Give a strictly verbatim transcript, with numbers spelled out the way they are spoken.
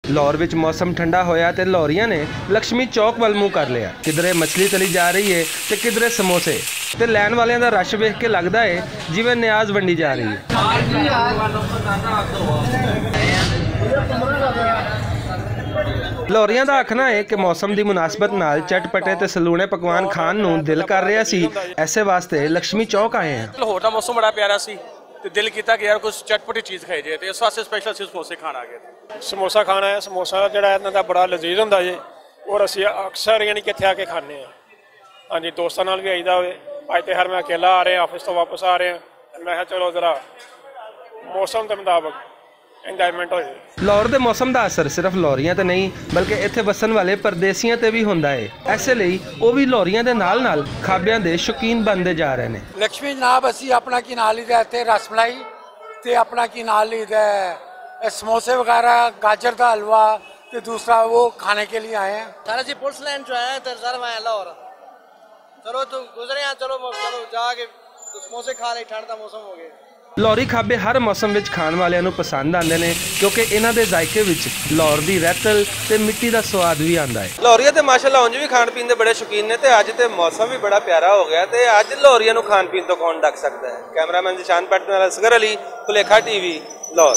لاہور وچ موسم ٹھنڈا ہویا تے لاہوریاں نے لکشمی چوک ول منہ کر لیا۔ کدھرے مچھلی تلی جا رہی ہے تے کدھرے سموسے، تے لین والیاں دا رش ویکھ کے لگدا ہے جیویں نیاز ونڈی جا رہی ہے۔ لاہوریاں دا آکھنا ہے کہ موسم دی مناسبت نال چٹ پٹے تے سلونے پکوان کھان نوں دل کر رہیا سی، ایسے واسطے لکشمی چوک آئے ہیں۔ لاہور دا موسم بڑا پیارا سی تے دل کیتا کہ یار کچھ چٹپٹی چیز کھائی جائے، تے اس واسطے سپیشل سی سموسے کھان آ گئے۔ سموسا کھانا ہے، سموسا جڑا ہے انہاں دا بڑا لذیذ ہوندا جی، اور اسی اکثر یعنی کہ اتھے آ کے کھانے ہیں۔ ہاں جی، دوستاں نال بھی آئیدا ہوئے۔ اج تے ہر میں اکیلا آ رہے ہیں، آفس تو واپس آ رہے ہیں، میں کہا چلو ذرا موسم دے مطابق انجوائمنٹ ہو جائے۔ لاہور دے موسم دا اثر صرف لاہوریاں تے نہیں، بلکہ ایتھے وسن والے پردیسیاں تے بھی ہوندا ہے۔ ایسے لئی او بھی لاہوریاں دے نال نال کھابیاں دے شوقین بنتے جا رہے نے۔ لکشمی جناب، اسی اپنا کی نال ہی دے تے رس ملائی تے اپنا کی نال ہی دے سموسے وغیرہ، گاجر دا حلوہ تے دوسرا وہ کھانے کے لیے آئے ہیں۔ سارا سی پولیس لائن چ آیا تے سر میں لاہور۔ چلو تو گزرے ہیں، چلو چلو جا کے سموسے کھا لے، ٹھنڈ دا موسم ہو گیا۔ لاہوری کھابے ہر موسم وچ کھان والیاں نوں پسند آندے نے، کیونکہ انہاں دے ذائقے وچ لاہور دی رہتل تے مٹی دا سواد وی آندا ہے۔ لاہوریاں تے ماشاءاللہ اونج وی کھان پین دے بڑے شوقین نے، تے اج تے موسم وی بڑا پیارا ہو گیا، تے اج لاہوریاں نوں کھان پین تو کون ڈک سکدا ہے؟ کیمرہ مین ذیشان پٹ نال اصغر علی، کلیکھا ٹی وی، لاہور۔